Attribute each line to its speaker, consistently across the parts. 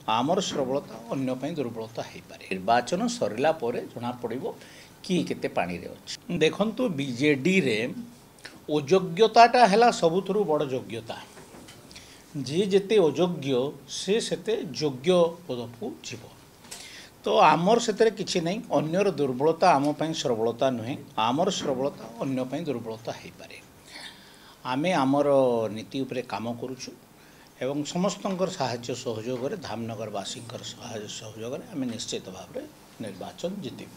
Speaker 1: ଆମର ସବଳତା ଅନ୍ୟ ପାଇଁ ଦୁର୍ବଳତା ହେଇପାରେ। ନିର୍ବାଚନ ସରିଲା ପରେ ଜଣାପଡ଼ିବ କିଏ କେତେ ପାଣିରେ ଅଛି। ଦେଖନ୍ତୁ, ବିଜେଡ଼ିରେ ଅଯୋଗ୍ୟତାଟା ହେଲା ସବୁଥିରୁ ବଡ଼ ଯୋଗ୍ୟତା। ଯିଏ ଯେତେ ଅଯୋଗ୍ୟ ସେ ସେତେ ଯୋଗ୍ୟ ପଦକୁ ଯିବ। ତ ଆମର ସେଥିରେ କିଛି ନାହିଁ। ଅନ୍ୟର ଦୁର୍ବଳତା ଆମ ପାଇଁ ସବଳତା ନୁହେଁ, ଆମର ସବଳତା ଅନ୍ୟ ପାଇଁ ଦୁର୍ବଳତା ହେଇପାରେ। ଆମେ ଆମର ନୀତି ଉପରେ କାମ କରୁଛୁ ଏବଂ ସମସ୍ତଙ୍କର ସାହାଯ୍ୟ ସହଯୋଗରେ, ଧାମନଗରବାସୀଙ୍କର ସାହାଯ୍ୟ ସହଯୋଗରେ ଆମେ ନିଶ୍ଚିତ ଭାବରେ ନିର୍ବାଚନ ଜିତିବୁ।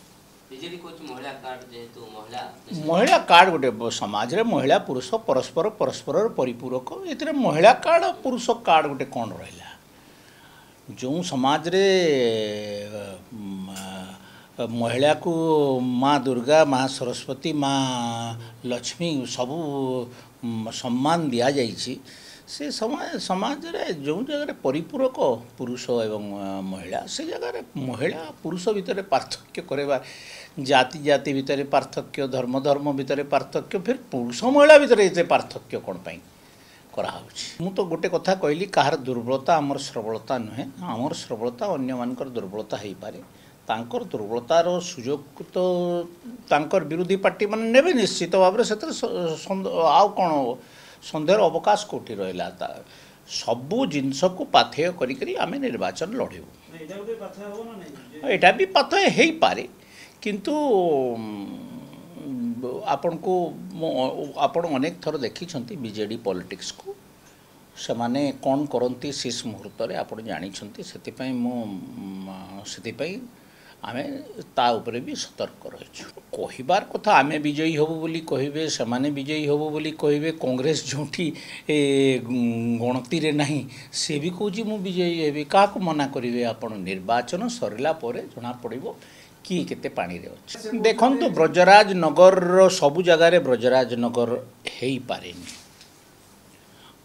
Speaker 1: ମହିଳା କାର୍ଡ଼ ଗୋଟେ ସମାଜରେ ମହିଳା ପୁରୁଷ ପରସ୍ପର ପରସ୍ପରର ପରିପୂରକ। ଏଥିରେ ମହିଳା କାର୍ଡ଼ ପୁରୁଷ କାର୍ଡ଼ ଗୋଟେ କ'ଣ ରହିଲା? ଯେଉଁ ସମାଜରେ ମହିଳାକୁ ମା ଦୁର୍ଗା, ମା ସରସ୍ୱତୀ, ମା ଲକ୍ଷ୍ମୀ ସବୁ ସମ୍ମାନ ଦିଆଯାଇଛି, ସେ ସମାଜରେ ଯେଉଁ ଜାଗାରେ ପରିପୂରକ ପୁରୁଷ ଏବଂ ମହିଳା, ସେ ଜାଗାରେ ମହିଳା ପୁରୁଷ ଭିତରେ ପାର୍ଥକ୍ୟ କରିବା, ଜାତି ଜାତି ଭିତରେ ପାର୍ଥକ୍ୟ, ଧର୍ମ ଧର୍ମ ଭିତରେ ପାର୍ଥକ୍ୟ, ଫିର୍ ପୁରୁଷ ମହିଳା ଭିତରେ ଏତେ ପାର୍ଥକ୍ୟ କ'ଣ ପାଇଁ କରାହେଉଛି? ମୁଁ ତ ଗୋଟେ କଥା କହିଲି, କାହାର ଦୁର୍ବଳତା ଆମର ସବଳତା ନୁହେଁ, ଆମର ସବଳତା ଅନ୍ୟମାନଙ୍କର ଦୁର୍ବଳତା ହେଇପାରେ। ତାଙ୍କର ଦୁର୍ବଳତାର ସୁଯୋଗ ତ ତାଙ୍କର ବିରୋଧୀ ପାର୍ଟିମାନେ ନେବେ ନିଶ୍ଚିତ ଭାବରେ, ସେଥିରେ ଆଉ କ'ଣ ସନ୍ଦେହର ଅବକାଶ କେଉଁଠି ରହିଲା? ତା ସବୁ ଜିନିଷକୁ ପାଥେୟ କରିକରି ଆମେ ନିର୍ବାଚନ ଲଢ଼ିବୁ। ଏଇଟା ବି ପାଥେୟ ହେଇପାରେ, କିନ୍ତୁ ଆପଣଙ୍କୁ ଆପଣ ଅନେକ ଥର ଦେଖିଛନ୍ତି ବିଜେଡ଼ି ପଲିଟିକ୍ସକୁ, ସେମାନେ କ'ଣ କରନ୍ତି ଶେଷ ମୁହୂର୍ତ୍ତରେ ଆପଣ ଜାଣିଛନ୍ତି। ସେଥିପାଇଁ ମୁଁ ସେଥିପାଇଁ ଆମେ ତା ଉପରେ ବି ସତର୍କ ରହିଛୁ। କହିବାର କଥା, ଆମେ ବିଜୟୀ ହେବୁ ବୋଲି କହିବେ, ସେମାନେ ବିଜୟୀ ହେବୁ ବୋଲି କହିବେ। କଂଗ୍ରେସ ଯେଉଁଠି ଗଣତିରେ ନାହିଁ ସେ ବି କହୁଛି ମୁଁ ବିଜୟୀ ହେବି। କାହାକୁ ମନା କରିବେ ଆପଣ? ନିର୍ବାଚନ ସରିଲା ପରେ ଜଣାପଡ଼ିବ କିଏ କେତେ ପାଣିରେ ଅଛି। ଦେଖନ୍ତୁ, ବ୍ରଜରାଜନଗରର ସବୁ ଜାଗାରେ ବ୍ରଜରାଜନଗର ହେଇପାରେନି।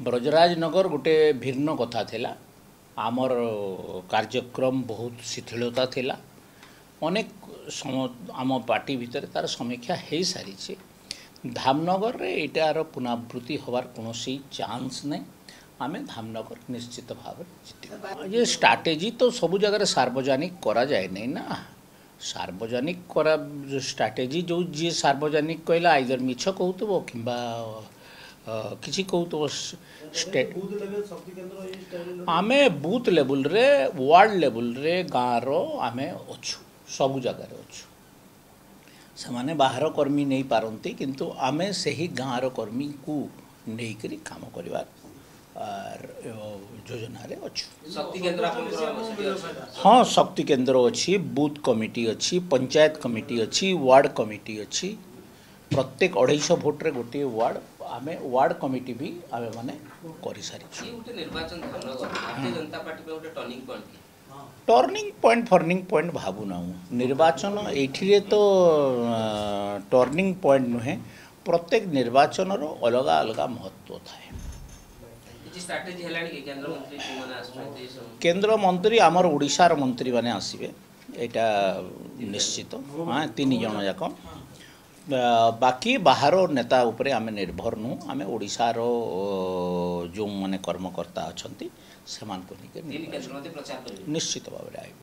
Speaker 1: ବ୍ରଜରାଜନଗର ଗୋଟେ ଭିନ୍ନ କଥା ଥିଲା। ଆମର କାର୍ଯ୍ୟକ୍ରମ ବହୁତ ଶିଥିଳତା ଥିଲା। ଅନେକ ଆମ ପାର୍ଟି ଭିତରେ ତା'ର ସମୀକ୍ଷା ହେଇସାରିଛି। ଧାମନଗରରେ ଏଇଟାର ପୁନରାବୃତ୍ତି ହେବାର କୌଣସି ଚାନ୍ସ ନାହିଁ। ଆମେ ଧାମନଗର ନିଶ୍ଚିତ ଭାବରେ ଜିତିବୁ। ଏ ଷ୍ଟ୍ରାଟେଜି ତ ସବୁ ଜାଗାରେ ସାର୍ବଜନିକ କରାଯାଏ ନାହିଁ ନା। ସାର୍ବଜନିକ କରା ଷ୍ଟ୍ରାଟେଜି ଯେଉଁ ଯିଏ ସାର୍ବଜନିକ କହିଲା, ଆଇଦର ମିଛ କହୁଥିବ କିମ୍ବା କିଛି କହୁଥିବ। ଷ୍ଟେଟ୍ ଆମେ ବୁଥ୍ ଲେବୁଲରେ, ୱାର୍ଡ଼ ଲେବୁଲରେ, ଗାଁର ଆମେ ଅଛୁ, ସବୁ ଜାଗାରେ ଅଛୁ। ସେମାନେ ବାହାର କର୍ମୀ ନେଇପାରନ୍ତି, କିନ୍ତୁ ଆମେ ସେହି ଗାଁର କର୍ମୀକୁ ନେଇକରି କାମ କରିବା ଯୋଜନାରେ ଅଛୁ। ହଁ, ଶକ୍ତି କେନ୍ଦ୍ର ଅଛି, ବୁଥ୍ କମିଟି ଅଛି, ପଞ୍ଚାୟତ କମିଟି ଅଛି, ୱାର୍ଡ଼ କମିଟି ଅଛି। ପ୍ରତ୍ୟେକ 250 ଭୋଟରେ ଗୋଟିଏ ୱାର୍ଡ଼, ଆମେ ୱାର୍ଡ଼ କମିଟି ବି ଆମେମାନେ କରିସାରିଛୁ। ଟର୍ଣ୍ଣିଂ ପଏଣ୍ଟ ଫର୍ଣ୍ଣିଂ ପଏଣ୍ଟ ଭାବୁନାହୁଁ। ନିର୍ବାଚନ ଏଇଠିରେ ତ ଟର୍ଣ୍ଣିଂ ପଏଣ୍ଟ ନୁହେଁ, ପ୍ରତ୍ୟେକ ନିର୍ବାଚନର ଅଲଗା ଅଲଗା ମହତ୍ତ୍ୱ ଥାଏ। କେନ୍ଦ୍ର ମନ୍ତ୍ରୀ ଆମର ଓଡ଼ିଶାର ମନ୍ତ୍ରୀମାନେ ଆସିବେ, ଏଇଟା ନିଶ୍ଚିତ। ହଁ, 3 ଜଣ ଯାକ। ବାକି ବାହାର ନେତା ଉପରେ ଆମେ ନିର୍ଭର ନୁହଁ। ଆମେ ଓଡ଼ିଶାର ଯେଉଁମାନେ କର୍ମକର୍ତ୍ତା ଅଛନ୍ତି ସେମାନଙ୍କୁ ନେଇକି ନିଶ୍ଚିତ ଭାବରେ ଆଇବୁ।